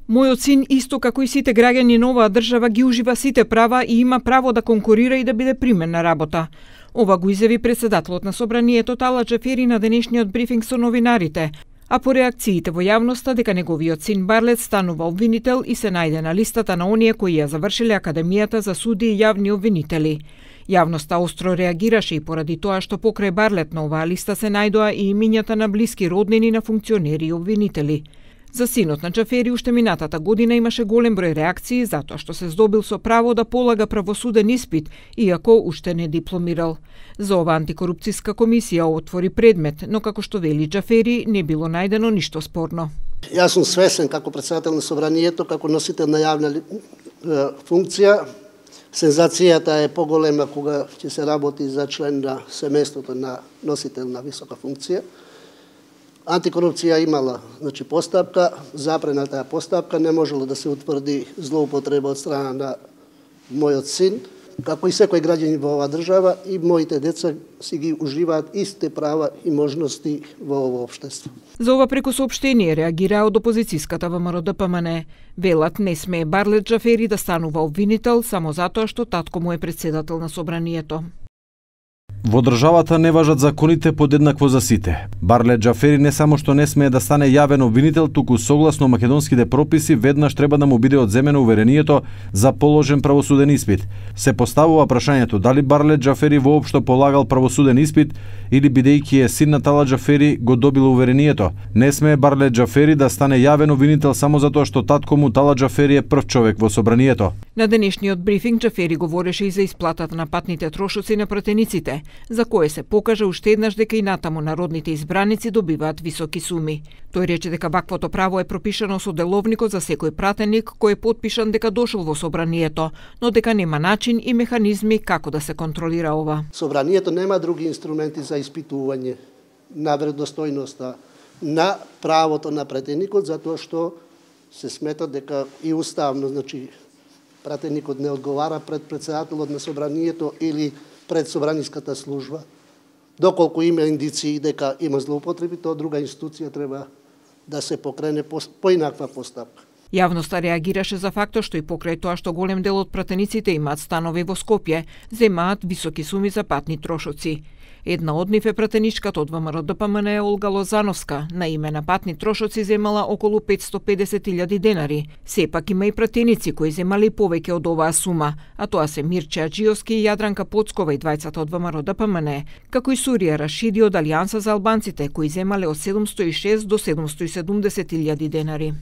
Мојот син, исто како и сите граѓани на оваа држава, ги ужива сите права и има право да конкурира и да биде примен на работа. Ова го изјави председателот на собранието Тала Џафери на денешниот брифинг со новинарите, а по реакциите во јавноста дека неговиот син Барлет станува обвинител и се најде на листата на оние кои ја завршиле Академијата за суди и јавни обвинители. Јавноста остро реагираше и поради тоа што покрај Барлет на оваа листа се најдоа и имињата на блиски роднини на функционери и обвинители. За синот на Џафери уште минатата година имаше голем број реакции затоа што се здобил со право да полага правосуден испит, иако уште не дипломирал. За ова антикорупцијска комисија отвори предмет, но како што вели Џафери, не било најдено ништо спорно. Јас сум свесен како председател на собранието, како носител на јавна функција. Сензацијата е поголема кога ќе се работи за член на семејството на носител на висока функција. Антикорупција имала постапка, запрена таа постапка, не можело да се утврди злоупотреба од страна на мојот син, како и секој граѓанин во оваа држава, и моите деца си ги уживаат истите права и можности во ово општество. За ова преку соопштение реагираа од опозицијската ВМРО-ДПМН. Велат не смее Барлет Џафери да станува обвинител само затоа што татко му е председател на собранието. Во државата не важат законите подеднакво за сите. Барлет Џафери не само што не смее да стане јавен обвинител, туку согласно македонските прописи веднаш треба да му биде одземено уверението за положен правосуден испит. Се поставува прашањето дали Барлет Џафери воопшто полагал правосуден испит или бидејќи е син на Тала Џафери го добил уверението. Не смее Барлет Џафери да стане јавен обвинител само затоа што татко му Тала Џафери е прв човек во собранието. На денешниот брифинг Џафери говореше и за исплатата на патните трошоци на пратениците, за кое се покажа уште еднаш дека и натаму народните избраници добиваат високи суми. Тој рече дека ваквото право е пропишано со деловникот за секој пратеник кој е потпишан дека дошол во собранието, но дека нема начин и механизми како да се контролира ова. Собранието нема други инструменти за испитување на веродостојноста на правото на пратеникот, затоа што се смета дека и уставно, пратеникот не одговара пред председателот на собранието или пред собраниската служба. Доколку има индиции дека има злоупотреби, тоа друга институција треба да се покрене поинаква постапка. Јавноста реагираше за фактот што и покрај тоа што голем дел од пратениците имаат станови во Скопје, земаат високи суми за патни трошоци. Една од нив е пратеничката од ВМРО-ДПМН Олга Лозановска, на име на патни трошоци земала околу 550.000 денари. Сепак има и пратеници кои земали повеќе од оваа сума, а тоа се Мирче Аџиовски и Јадранка Поцкова и двајцата од ВМРО-ДПМН, како и Сурија Рашиди од Алијанса за албанците кои земале од 706 до 770.000 денари.